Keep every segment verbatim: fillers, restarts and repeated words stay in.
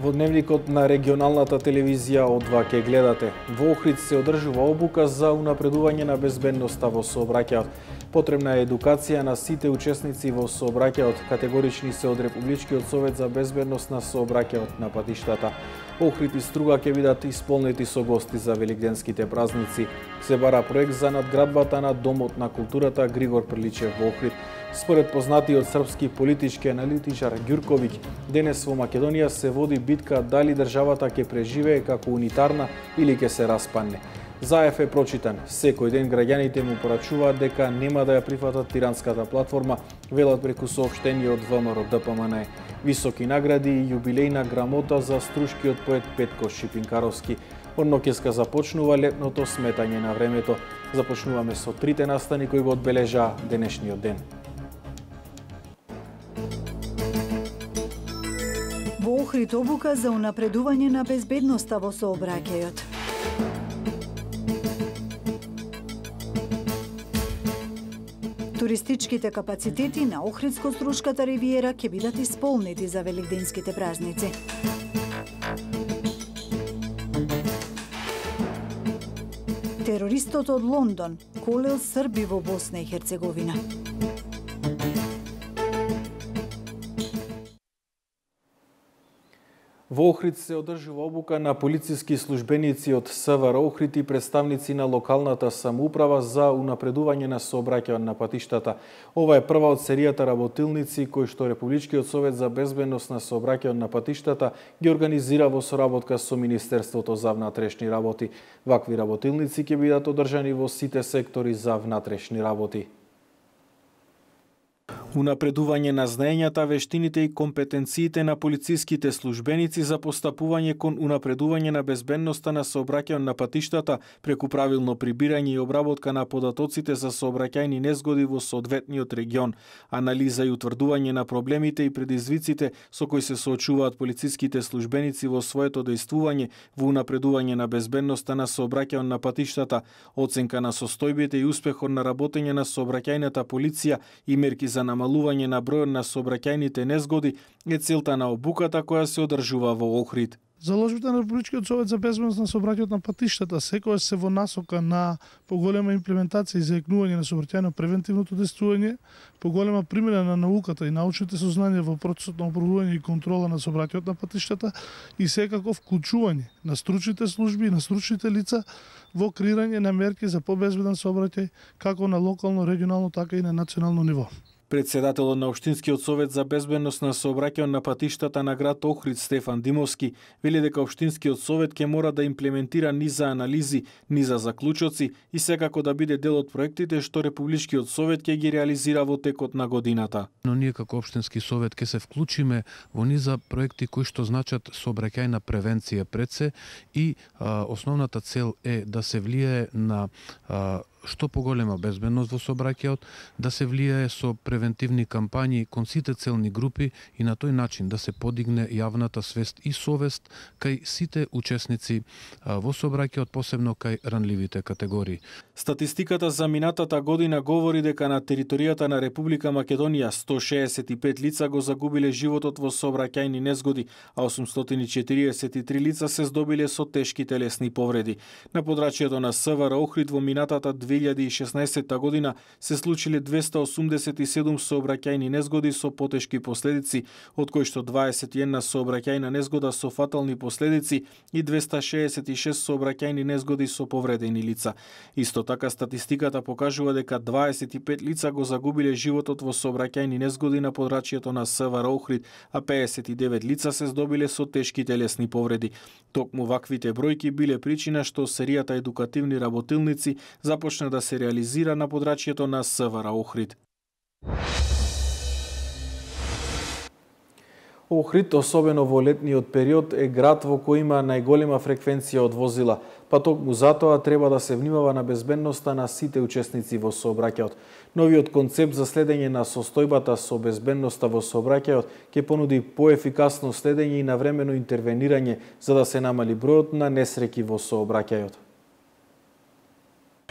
Во дневникот на регионалната телевизија од два ке гледате. Во Охрид се одржува обука за унапредување на безбедноста во сообраќајот. Потребна е едукација на сите учесници во сообраќајот. Категорични се од Републичкиот совет за безбедност на сообраќајот на патиштата. Охрид и Струга ќе бидат исполнети со гости за великденските празници. Се бара проект за надградбата на Домот на културата Григор Приличев во Охрид. Според познатиот српски политички аналитичар Ѓурковиќ, денес во Македонија се води битка дали државата ќе преживее како унитарна или ќе се распадне. Заев е прочитан. Секој ден граѓаните му порачуваат дека нема да ја прифатат тиранската платформа, велат преку соопштение од ВМРО Д П М Н Е. Високи награди и јубилејна грамота за струшкиот поет Петко Шипинкаровски. Од ноќеска започнува летното сметање на времето. Започнуваме со трите настани кои го одбележаа денешниот ден. Во Охрид обука за унапредување на безбедноста во сообраќајот. Туристичките капацитети на Охридско-Струшката ривиера ќе бидат исполнети за великденските празници. Терористот од Лондон колел срби во Босна и Херцеговина. Во Охрид се одржува обука на полициски службеници од С В Р Охрид и представници на локалната самоуправа за унапредување на сообраќајот на патиштата. Ова е прва од серијата работилници кои што Републичкиот совет за безбедност на сообраќајот на патиштата ги организира во соработка со Министерството за внатрешни работи. Вакви работилници ќе бидат одржани во сите сектори за внатрешни работи. Унапредување на знаењата, вештините и компетенциите на полициските службеници за постапување кон унапредување на безбедноста на сообраќајот на патиштата преку правилно прибирање и обработка на податоците за сообраќајни незгоди во соодветниот регион, анализа и утврдување на проблемите и предизвиците со кои се соочуваат полициските службеници во своето дејствување во унапредување на безбедноста на сообраќајот на патиштата, оценка на состојбите и успехот на работење на сообраќајната полиција и мерки за намалување на бројот на сообраќајните незгоди е целта на обуката која се одржува во Охрид. Заложбите на Републичкиот совет за безбедност на сообраќајот на патиштата секогаш се во насока на поголема имплементација и заекнување на сообраќајно превентивното действување, поголема примена на науката и научните сознанија во процесот на управување и контрола на сообраќајот на патиштата и секако вклучување на стручните служби и на стручните лица во креирање на мерки за побезбеден сообраќај како на локално, регионално, така и на национално ниво. Председателот на Општинскиот совет за безбедност на сообраќајот на патиштата на град Охрид Стефан Димовски вели дека Општинскиот совет ќе мора да имплементира низа анализи, низа заклучоци и секако да биде дел од проектите што Републичкиот совет ќе ги реализира во текот на годината. Но ние како Општински совет ќе се вклучиме во низа проекти кои што значат сообраќајна превенција пред се и а, основната цел е да се влијае на а, што поголема безбедност во сообраќајот, да се влијае со превентивни кампањи кон сите целни групи и на тој начин да се подигне јавната свест и совест кај сите учесници во сообраќајот, посебно кај ранливите категории. Статистиката за минатата година говори дека на територијата на Република Македонија сто шеесет и пет лица го загубиле животот во сообраќајни незгоди, а осумстотини и четириесет и три лица се здобиле со тешки телесни повреди. На подрачјето на С В Р Охрид во минатата две илјади и шеснаесетта година се случиле двесте осумдесет и седум сообраќајни незгоди со потешки последици, од кои што дваесет и една сообраќајна незгода со фатални последици и двесте шеесет и шест сообраќајни незгоди со повредени лица. Исто така статистиката покажува дека дваесет и пет лица го загубиле животот во сообраќајни незгоди на подрачјето на С В Р Охрид, а пеесет и девет лица се здобиле со тешки телесни повреди. Токму ваквите бројки биле причина што серијата едукативни работилници започна да се реализира на подрачјето на С В Р Охрид. Охрид, особено во летниот период, е град во кој има најголема фреквенција од возила, па токму затоа треба да се внимава на безбедноста на сите учесници во сообраќајот. Новиот концепт за следење на состојбата со безбедноста во сообраќајот ќе понуди поефикасно следење и навремено интервенирање за да се намали бројот на несреќи во сообраќајот.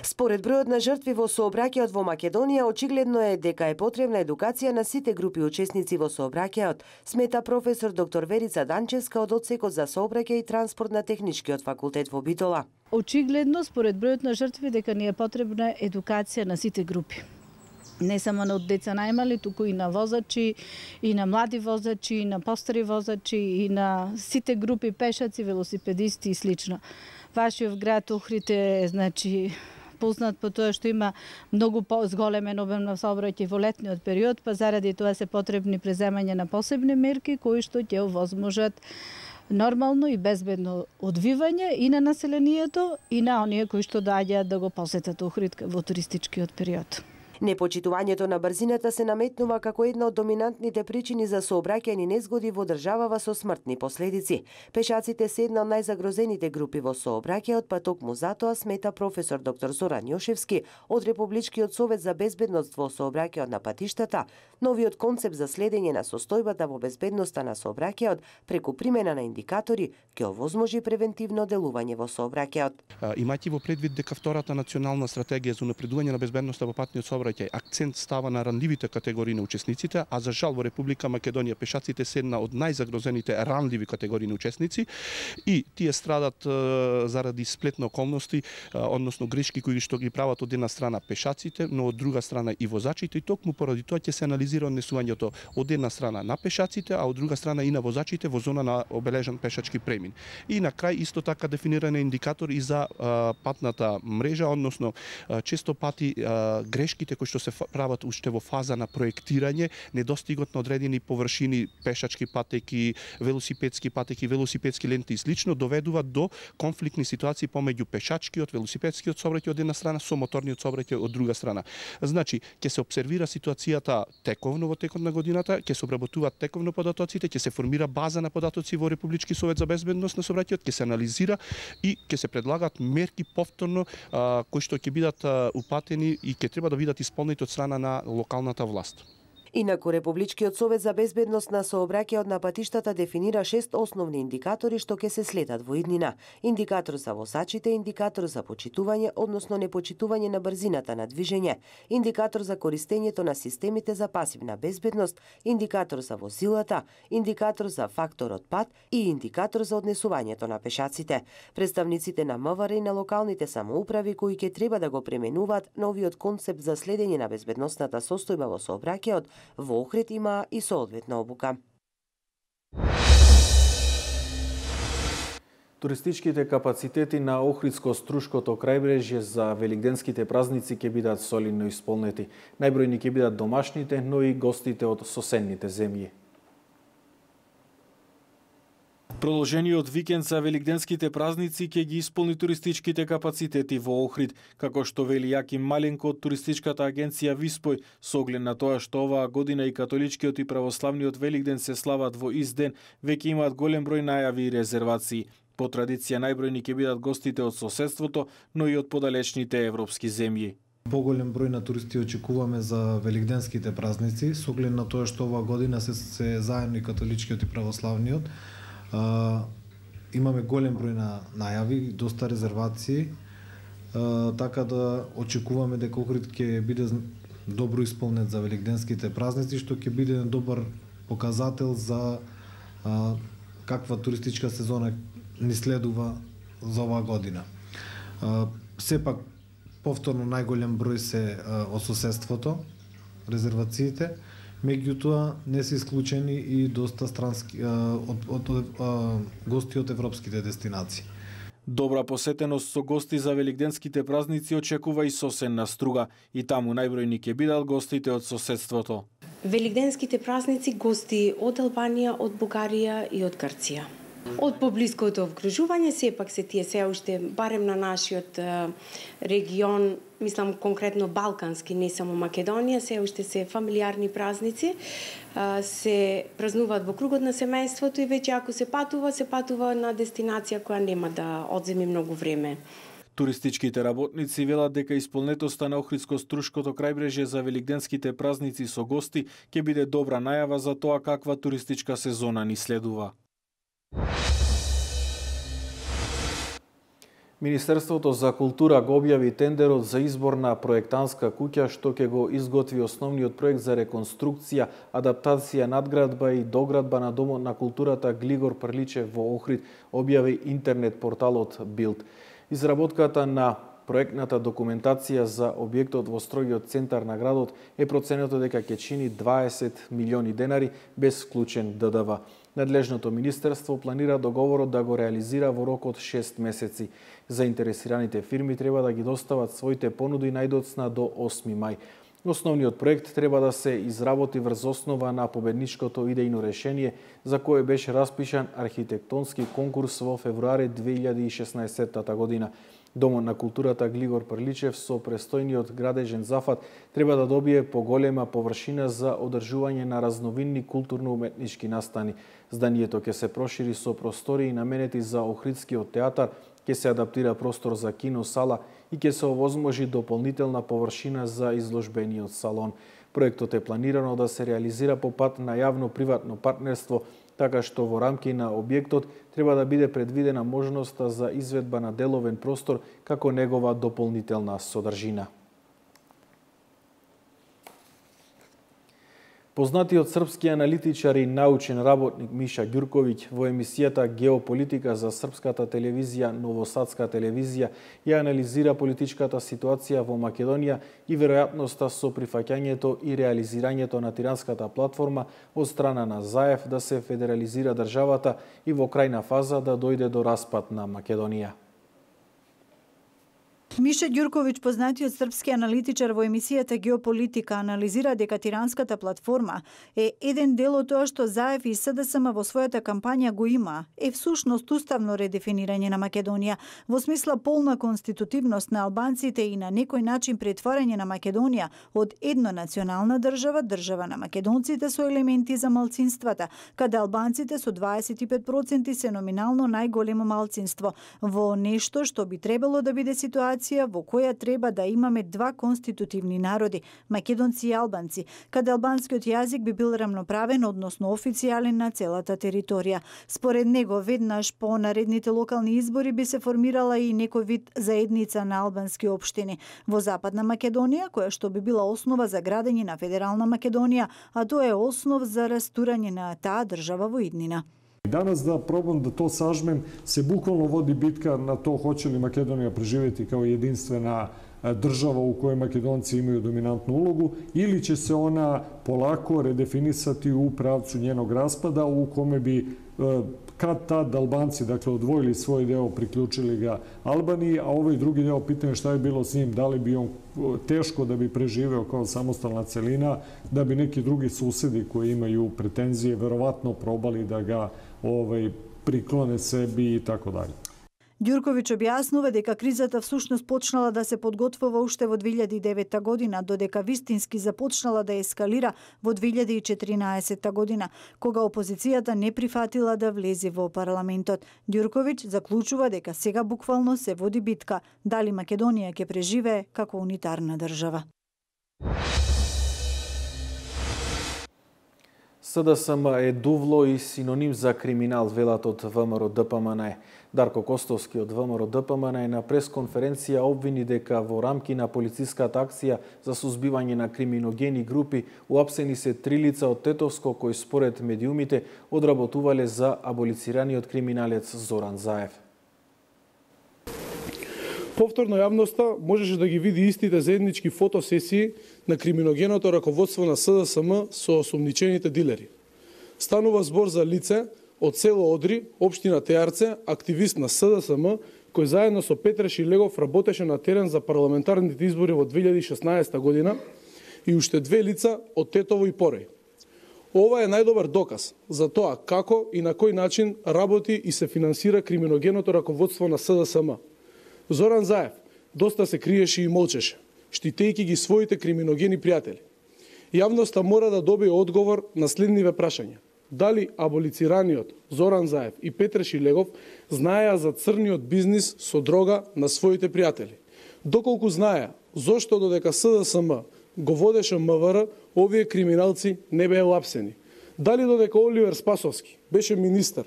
Според бројот на жртви во сообраќајот во Македонија, очигледно е дека е потребна едукација на сите групи учесници во сообраќајот, смета професор доктор Верица Данчевска од одсекот за сообраќај и транспорт на Техничкиот факултет во Битола. Очигледно, според бројот на жртви, дека ни е потребна едукација на сите групи. Не само на деца најмали, туку и на возачи, и на млади возачи, и на постари возачи, и на сите групи пешаци, велосипедисти и слично. Вашиот град Охрид е, значи, познат по тоа што има многу зголемен обем на сообраќај во летниот период, па заради тоа се потребни преземање на посебни мерки кои што ќе овозможат нормално и безбедно одвивање и на населението и на оние кои што доаѓаат да го посетат Охрид во туристичкиот период. Непочитувањето на брзината се наметнува како една од доминантните причини за сообраќајни незгоди во државава со смртни последици. Пешаците се една од најзагрозените групи во сообраќајот, па токму затоа смета професор доктор Зоран Јошевски од Републичкиот совет за безбедност во сообраќајот на патиштата, новиот концепт за следење на состојбата во безбедноста на сообраќајот преку примена на индикатори ќе овозможи превентивно делување во сообраќајот. Имајќи во предвид дека втората национална стратегија за унапредување на безбедноста во патниот сообраќај акцент става на ранливите категории на учесниците, а за жал во Република Македонија пешаците се една од најзагрозените ранливи категории на учесници и тие страдат е, заради сплетни околности, е, односно грешки кои што ги прават од една страна пешаците, но од друга страна и возачите, и токму поради тоа ќе се анализира однесувањето од една страна на пешаците, а од друга страна и на возачите во зона на обележан пешачки премин. И на крај исто така дефиниран индикатор и за е, патната мрежа, односно е, често пати е, грешките кои што се прават уште во фаза на проектирање, недостигот на одредени површини, пешачки патеки, велосипедски патеки, велосипедски ленти и слично, доведуваат до конфликтни ситуации помеѓу пешачкиот, велосипедскиот сообраќај од една страна, со моторниот сообраќај од друга страна. Значи, ќе се обсервира ситуацијата тековно во текот на годината, ќе се обработуваат тековно податоците, ќе се формира база на податоци во Републички совет за безбедност на сообраќајот, ќе се анализира и ќе се предлагаат мерки повторно а, кои што ќе бидат а, упатени и ќе треба да бидат исполнети од страна на локалната власт. Инаку Републичкиот совет за безбедност на сообраќајот на патиштата дефинира шест основни индикатори што ќе се следат во иднина. Индикатор за возачите, индикатор за почитување, односно непочитување на брзината на движење, индикатор за користењето на системите за пасивна безбедност, индикатор за возилата, индикатор за факторот пат и индикатор за однесувањето на пешаците. Представниците на МВР и на локалните самоуправи кои ќе треба да го пременуваат новиот концепт за следење на безбедносната состојба во сообраќајот, во Охрид има и соодветна обука. Туристичките капацитети на Охридско-Струшкото крајбрежје за великденските празници ќе бидат солидно исполнети. Најбројни ќе бидат домашните, но и гостите од соседните земји. Продолжениот викенд за великденските празници ќе ги исполни туристичките капацитети во Охрид, како што вели Јаким Маленко од туристичката агенција Виспој, со оглед на тоа што оваа година и католичкиот и православниот Великден се слават во ист ден, веќе имаат голем број најави и резервации. По традиција најбројни ќе бидат гостите од соседството, но и од подалечните европски земји. Поголем број на туристи очекуваме за великденските празници, со оглед на тоа што оваа година се, се заедно и католичкиот и православниот. Uh, имаме голем број на најави, доста резервации, uh, така да очекуваме дека Охрид ќе биде добро исполнет за великденските празници, што ќе биде добар показател за uh, каква туристичка сезона ни следува за оваа година. Uh, сепак, повторно најголем број се uh, од соседството, резервациите, меѓутоа не се исклучени и доста странски од, од, од, од гости од европските дестинации. Добра посетеност со гости за великденските празници очекува и соседна Струга, и таму најбројни ќе бидат гостите од соседството. Великденските празници гости од Албанија, од Бугарија и од Грција. Од поблиското обкружување сепак се тие се уште барем на нашиот регион, мислам конкретно балкански, не само Македонија, се уште се фамилиарни празници, се празнуваат во кругот на семејството и веќе ако се патува, се патува на дестинација која нема да одземи многу време. Туристичките работници велат дека исполнетоста на Охридско-Струшкото крајбрежје за великденските празници со гости ќе биде добра најава за тоа каква туристичка сезона ни следува. Министерството за култура го објави тендерот за избор на проектантска куќа што ќе го изготви основниот проект за реконструкција, адаптација, надградба и доградба на Домот на културата Глигор Прличев во Охрид, објави интернет порталот Билд. Изработката на проектната документација за објектот во строгиот центар на градот е проценето дека ќе чини дваесет милиони денари без вклучен Д Д В. Надлежното министерство планира договорот да го реализира во рок од шест месеци. Заинтересираните фирми треба да ги достават своите понуди најдоцна до осми мај. Основниот проект треба да се изработи врз основа на победничкото идејно решение за кое беше распишан архитектонски конкурс во февруари две илјади и шеснаесетта година. Домот на културата Глигор Прличев со престојниот градежен зафат треба да добие поголема површина за одржување на разновидни културно-уметнички настани. Зданието ќе се прошири со простории наменети за Охридскиот театар, ќе се адаптира простор за кино сала и ќе се овозможи дополнителна површина за изложбениот салон. Проектот е планирано да се реализира по пат на јавно-приватно партнерство, така што во рамки на објектот треба да биде предвидена можноста за изведба на деловен простор како негова дополнителна содржина. Познатиот српски аналитичар и научен работник Миша Ѓурковиќ во емисијата Геополитика за српската телевизија Новосадска телевизија ја анализира политичката ситуација во Македонија и веројатноста со прифаќањето и реализирањето на тиранската платформа од страна на Заев да се федерализира државата и во крајна фаза да дојде до распад на Македонија. Миша Ѓурковиќ, познатиот српски аналитичар во емисијата Геополитика, анализира дека тиранската платформа е еден дел од тоа што Заев и С Д С М во својата кампања го има, е всушност уставно редефинирање на Македонија, во смисла полна конститутивност на албанците и на некој начин претворање на Македонија од еднонационална држава, држава на македонците со елементи за малцинствата, каде албанците со дваесет и пет проценти се номинално најголемо малцинство, во нешто што би требало да биде ситуација во која треба да имаме два конститутивни народи, македонци и албанци, каде албанскиот јазик би бил рамноправен, односно официјален на целата територија. Според него, веднаш по наредните локални избори би се формирала и некој вид заедница на албански општини во Западна Македонија, која што би била основа за градење на Федерална Македонија, а тоа е основ за растурање на таа држава во иднина. Данас да пробам да то сажмем, се буквално води битка на то хоće ли Македонија преживети као единствена држава у кој македонци имају доминантну улогу или ќе се она полако редефинисати у правцу нjenog распада у коме би kad tad Albanci, dakle, odvojili svoj deo, priključili ga Albaniji, a ovaj drugi deo pitanje šta je bilo s njim, da li bi on teško da bi preživeo kao samostalna celina, da bi neki drugi susedi koji imaju pretenzije verovatno probali da ga ovaj, priklone sebi i tako dalje. Ѓурковиќ објаснува дека кризата всушност почнала да се подготвува уште во две илјади и девета година, додека вистински започнала да ескалира во две илјади и четиринаесетта година, кога опозицијата не прифатила да влезе во парламентот. Ѓурковиќ заклучува дека сега буквално се води битка дали Македонија ќе преживее како унитарна држава. С Д С М е дувло и синоним за криминал, велат од В М Р Д П М Н Е. Дарко Костовски од В М Р Д П М Н Е на пресконференција обвини дека во рамки на полициската акција за сузбивање на криминогени групи уапсени се три лица од Тетовско кои според медиумите одработувале за аболицираниот криминалец Зоран Заев. Повторно јавноста можеше да ги види истите заеднички фотосесии на криминогеното раководство на С Д С М со осумничените дилери. Станува збор за лице од село Одри, општина Теарце, активист на С Д С М, кој заедно со Петре Шилегов работеше на терен за парламентарните избори во две илјади и шеснаесетта година и уште две лица од Тетово и Пореј. Ова е најдобар доказ за тоа како и на кој начин работи и се финансира криминогеното раководство на С Д С М. Зоран Заев доста се криеше и молчеше, штитејќи ги своите криминогени пријатели. Јавноста мора да добие одговор на следниве прашања. Дали аболицираниот Зоран Заев и Петре Шилегов знаеа за црниот бизнис со дрога на своите пријатели? Доколку знаеа, зошто додека С Д С М го водеше М В Р, овие криминалци не беа уапсени? Дали додека Оливер Спасовски беше министер,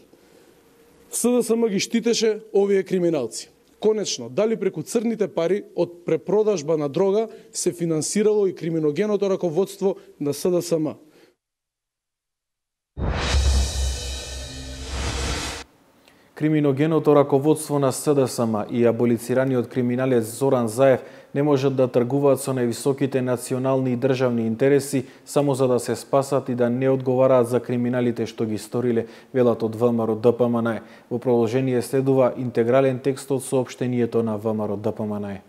С Д С М ги штитеше овие криминалци? Конечно, дали преку црните пари од препродажба на дрога се финансирало и криминогеното раководство на С Д С М. Криминогеното раководство на С Д С М и аболицираниот криминалец Зоран Заев не можат да тргуваат со највисоките национални и државни интереси само за да се спасат и да не одговараат за криминалите што ги сториле, велат од ВМРО Д П М Н Е. Во продолжение следува интегрален текст од соопштението на ВМРО Д П М Н Е.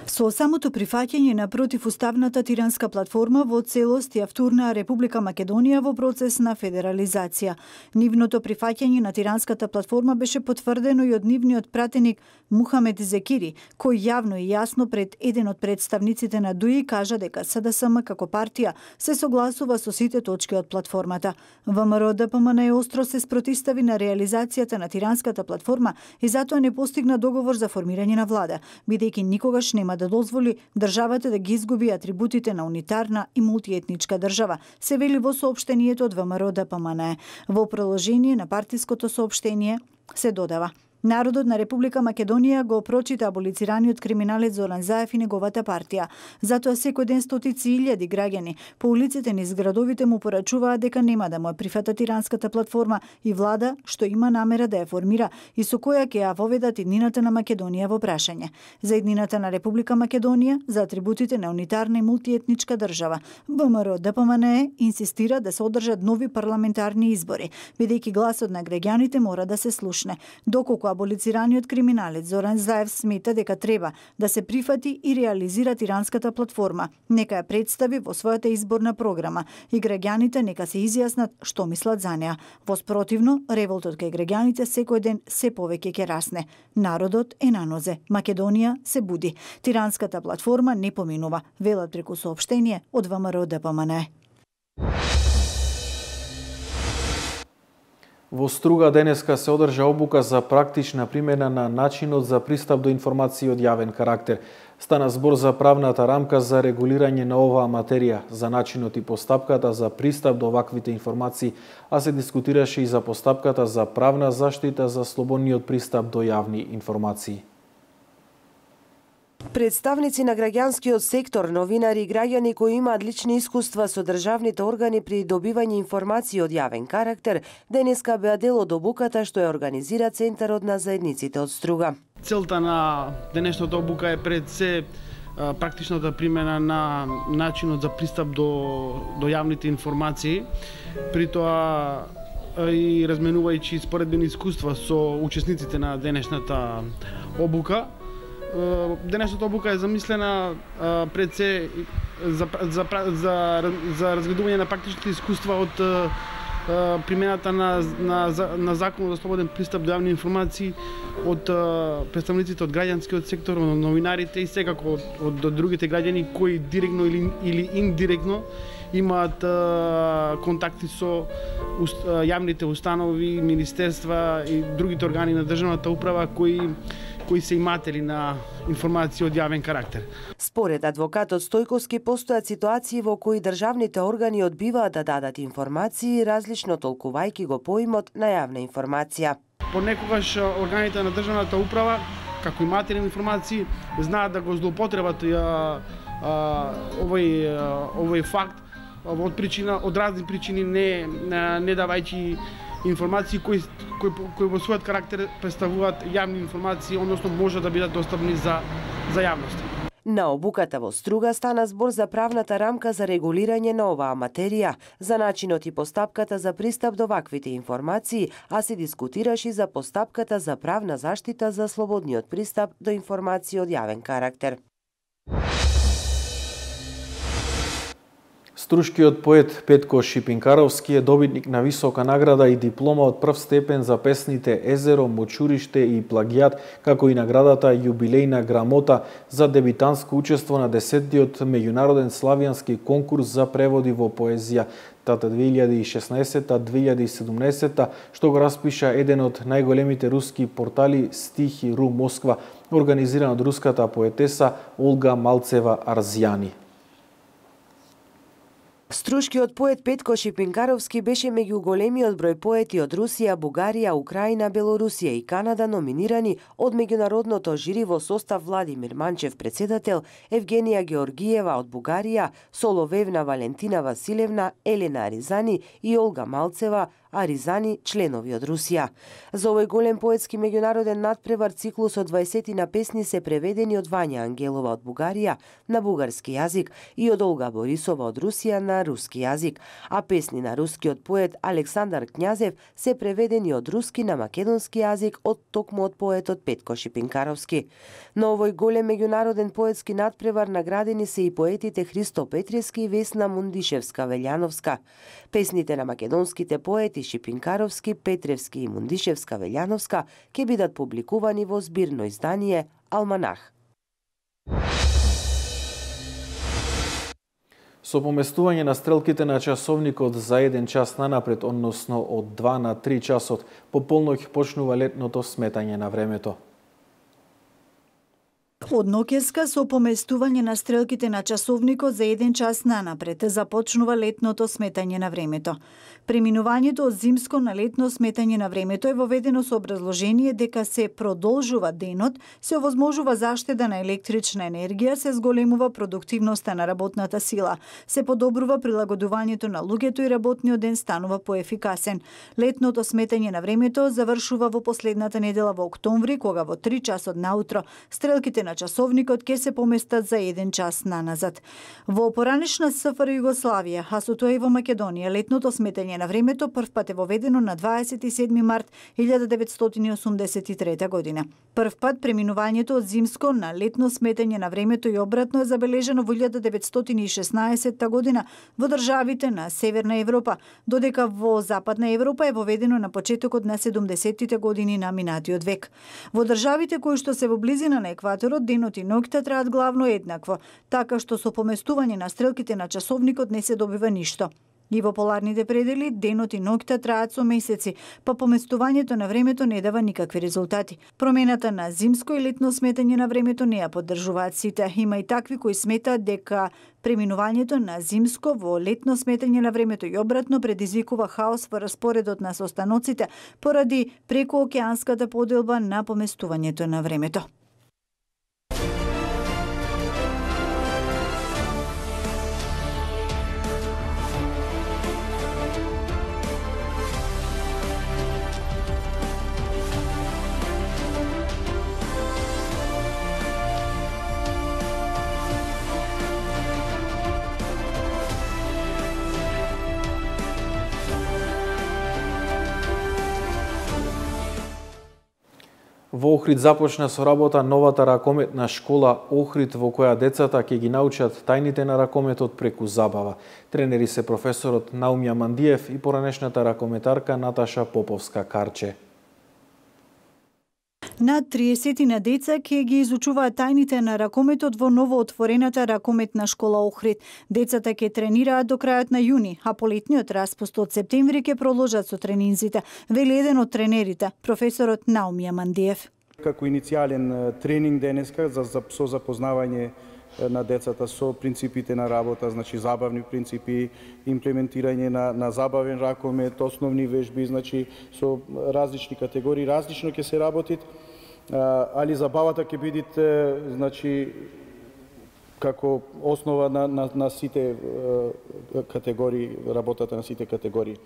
Со самото прифаќање на противуставната тиранска платформа во целост ја втурна Република Македонија во процес на федерализација. Нивното прифаќање на тиранската платформа беше потврдено и од нивниот пратеник Мухамед Зекири, кој јавно и јасно пред еден од представниците на ДУИ кажа дека С Д С М како партија се согласува со сите точки од платформата. ВМРО Д П М Н Е остро се спротистави на реализацијата на тиранската платформа и затоа не постигна договор за формирање на влада, бидејќи никогаш нема да дозволи државата да ги изгуби атрибутите на унитарна и мултиетничка држава, се вели во соопштението од ВМРО Д П М Н Е. Во продолжение на партиското соопштение се додава: Народот на Република Македонија го прочита аболицираниот криминалец Зоран Заев и неговата партија. Затоа секој ден стотици илјади граѓани по улиците низ градовите му порачуваат дека нема да му прифата тиранската платформа и влада што има намера да ја формира и со која ќе ја воведат иднината на Македонија во прашање. За иднината на Република Македонија, за атрибутите на унитарна и мултиетничка држава, ВМРО Д П М Н Е инсистира да се одржат нови парламентарни избори, бидејќи гласот на граѓаните мора да се слушне. Доколку аболицираниот криминалец Зоран Заев смета дека треба да се прифати и реализира тиранската платформа, нека ја представи во својата изборна програма и граѓаните нека се изјаснат што мислат за неа. Во спротивно, револтот кај граѓаните секој ден се повеќе ќе расне. Народот е на нозе, Македонија се буди. Тиранската платформа не поминува, велат преку соопштение од ВМРО Д П М Н Е. Во Струга денеска се одржа обука за практична примена на начинот за пристап до информации од јавен карактер. Стана збор за правната рамка за регулирање на оваа материја, за начинот и постапката за пристап до оваквите информации, а се дискутираше и за постапката за правна заштита за слободниот пристап до јавни информации. Представници на граѓанскиот сектор, новинари и граѓани кои имаат лични искуства со државните органи при добивање информации од јавен карактер, денеска беа дел од обуката што ја организира Центарот на заедниците од Струга. Целта на денешната обука е пред се практичната примена на начинот за пристап до, до јавните информации, при тоа и разменувајќи споредбени искуства со учесниците на денешната обука. Денешната обука е замислена пред се за, за, за, за разгледување на практичните искуства од примената на, на, на Законот за слободен пристап до јавни информации од представниците од граѓанскиот сектор, од новинарите и секако од, од, од другите граѓани кои директно или, или индиректно имаат а, контакти со уст, а, јавните установи, министерства и другите органи на државната управа кои кои се иматели на информации од јавен карактер. Според адвокатот Стојковски постојат ситуации во кои државните органи одбиваат да дадат информации различно толкувајќи го поимот на јавна информација. Понекогаш органите на државната управа, како иматели на информации, знаат да го злоупотребат а, а, овој, а, овој факт од причина, од разни причини, не, не давајќи информации кои, кои, кои во својот карактер представуваат јавни информации, односно може да бидат достапни за, за јавност. На обуката во Струга стана збор за правната рамка за регулирање на оваа материја, за начинот и постапката за пристап до ваквите информации, а се дискутираше за постапката за правна заштита за слободниот пристап до информации од јавен карактер. Струшкиот поет Петко Шипинкаровски е добитник на висока награда и диплома од прв степен за песните Езеро, Мочуриште и Плагијат, како и наградата Јубилејна грамота за дебитанско учество на десеттиот меѓународен славјански конкурс за преводи во поезија тата две илјади и шеснаесетта - две илјади и седумнаесетта, што го распиша еден од најголемите руски портали Стихи ру Москва, организиран од руската поетеса Олга Малцева Арзјани. Струшкиот поет Петко Шипинкаровски беше меѓу големиот број поети од Русија, Бугарија, Украина, Белорусија и Канада номинирани од меѓународното жири во состав Владимир Манчев, председател, Евгенија Георгиева од Бугарија, Соловевна Валентина Василевна, Елена Аризани и Олга Малцева, Аризани, членови од Русија. За овој голем поетски меѓународен надпревар циклусот дваесет на песни се преведени од Вања Ангелова од Бугарија на бугарски јазик и од Олга Борисова од Русија на руски јазик, а песни на рускиот поет Александар Књазев се преведени од руски на македонски јазик од токму од поетот Петко Шипинкаровски. На овој голем меѓународен поетски надпревар наградени се и поетите Христо Петрески и Весна Мундишевска-Велјановска. Песните на македонските поети Шипинкаровски, Петревски и Мундишевска-Велјановска ќе бидат публикувани во збирно издание Алманах. Со поместување на стрелките на часовникот за еден час нанапред, односно од два на три часот, по полноќ почнува летното сметање на времето. Од ноќеска со поместување на стрелките на часовникот за еден час нанапред започнува летното сметање на времето. Преминувањето од зимско на летно сметање на времето е воведено со образложение дека се продолжува денот, се овозможува заштеда на електрична енергија, се зголемува продуктивноста на работната сила, се подобрува прилагодувањето на луѓето и работниот ден станува поефикасен. Летното сметање на времето завршува во последната недела во октомври, кога во три часот наутро стрелките на часовникот ќе се поместат за еден час наназад. Во поранешна СФР Југославија, а со тоа и во Македонија, летното сметање на времето првпат е воведено на дваесет и седми март илјада деветстотини и осумдесет и трета година. Првпат преминувањето од зимско на летно сметање на времето и обратно е забележено во илјада деветстотини и шеснаесетта година во државите на Северна Европа, додека во Западна Европа е воведено на почетокот на седумдесеттите години на минатиот век. Во државите кои што се во близина на екваторот, денот и ноќта траат главно еднакво, така што со поместување на стрелките на часовникот не се добива ништо. И во поларните предели, денот и ноќта траат со месеци, па поместувањето на времето не дава никакви резултати. Промената на зимско и летно сметање на времето не ја поддржуваат сите. Има и такви кои сметаат дека преминувањето на зимско во летно сметање на времето и обратно предизвикува хаос во распоредот на состаноците поради прекоокеанската поделба на поместувањето на времето. Во Охрид започна со работа новата ракометна школа Охрид, во која децата ќе ги научат тајните на ракометот преку забава. Тренери се професорот Наумја Мандиев и поранешната ракометарка Наташа Поповска-Карче. Над триесет на деца ќе ги изучуваат тајните на ракометот во новоотворената ракометна школа Охрид. Децата ќе тренираат до крајот на јуни, а полетниот распуст од септември ќе проложат со тренинзите, вели еден од тренерите, професорот Наумја Мандиев. Како иницијален тренинг денеска за, за со запознавање на децата со принципите на работа, значи забавни принципи, имплементирање на, на забавен ракомет, основни вежби, значи со различни категории, различно ќе се работи, али забавата ќе биде значи како основа на, на, на сите категории, работата на сите категории.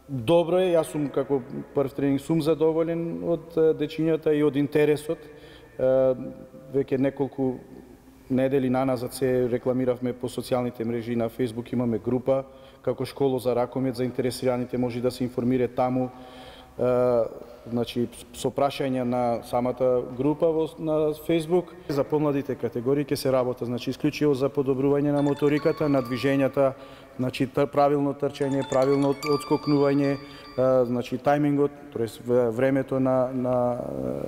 Добро е, јас сум како прв тренинг сум задоволен од дечињата и од интересот. Веќе неколку недели наназад се рекламиравме по социјалните мрежи, на Facebook имаме група како школа за ракомет, заинтересираните може да се информира таму, значи со прашања на самата група во, на Facebook. За помладите категории ќе се работа, значи исклучиво за подобрување на моториката, на движењата, значи правилно трчање, правилно одскокнување, значи тајмингот, тоест времето на на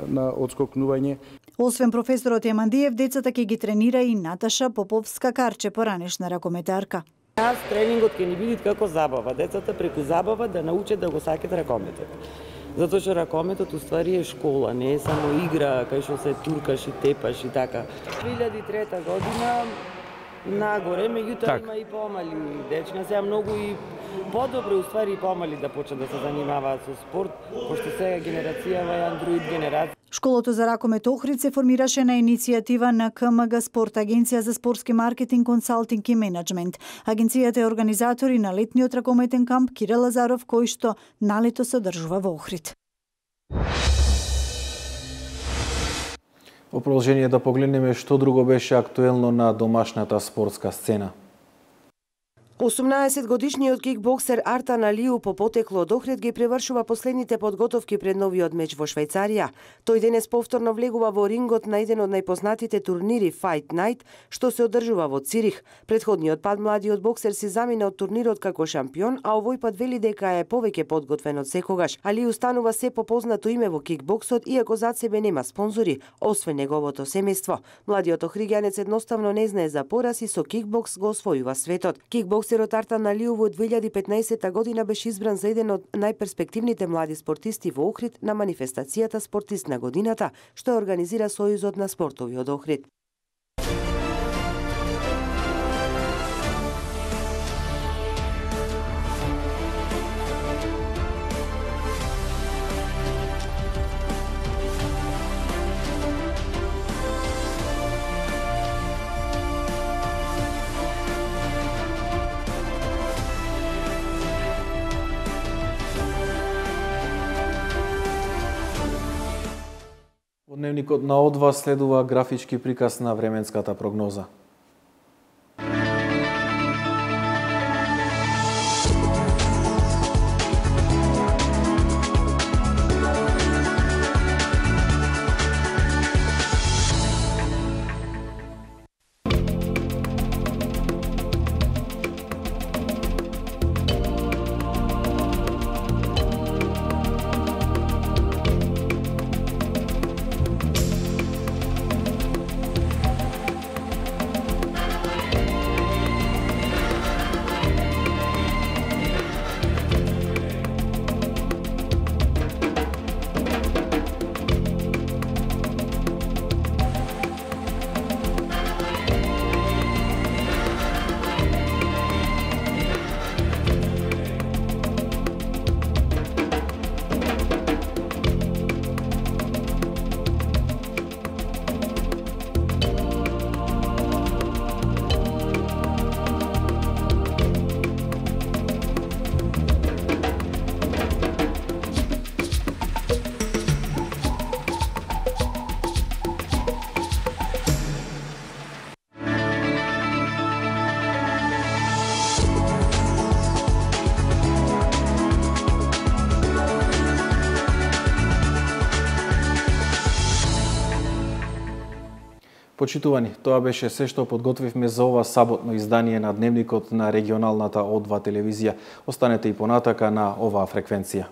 на одскокнување. Освен професорот Јамандиев, децата ќе ги тренира и Наташа Поповска-Карче, поранешна ракометарка. Нас тренингот ќе ни биде како забава. Децата преку забава да научат да го сакат ракометот. Затоа што ракометот уствари е школа, не е само игра кај што се туркаш и тепаш и така. две илјади и трета година нагоре, меѓутоа Так. има и помали дечиња, сега многу и подобро уствари и помали да почнат да се занимаваат со спорт, пошто сега генерацијава е андроид генерација. Школото за ракомет Охрид се формираше на иницијатива на К М Г Спорт, Агенција за спортски маркетинг, консалтинг и менеджмент. Агенцијата е организатори на летниот ракометен камп Кире Лазаров, кој што налето се одржува во Охрид. Во продолжение да погледнеме што друго беше актуелно на домашната спортска сцена. осумнаесет годишниот кикбоксер Артан Алиу по потекло од Охрид ги превршува последните подготовки пред новиот меч во Швајцарија. Тој денес повторно влегува во рингот на еден од најпознатите турнири Fight Night, што се одржува во Цирих. Предходниот пат младиот боксер си замина од турнирот како шампион, а овој пат вели дека е повеќе подготвен од секогаш. Алиу станува се попознато име во кикбоксот, иако зад себе нема спонзори, освен неговото семејство. Младиот охриѓанец едноставно не знае за пораз и со кикбокс го освојува светот. Кикбокс Боксерот Артан Алиу во две илјади и петнаесетта година беше избран за еден од најперспективните млади спортисти во Охрид на манифестацијата Спортист на годината, што организира Сојузот на спортови од Охрид. Во дневникот на О два следува графички приказ на временската прогноза. Почитувани, тоа беше се што подготвивме за ова саботно издание на Дневникот на регионалната О два телевизија. Останете и понатака на оваа фреквенција.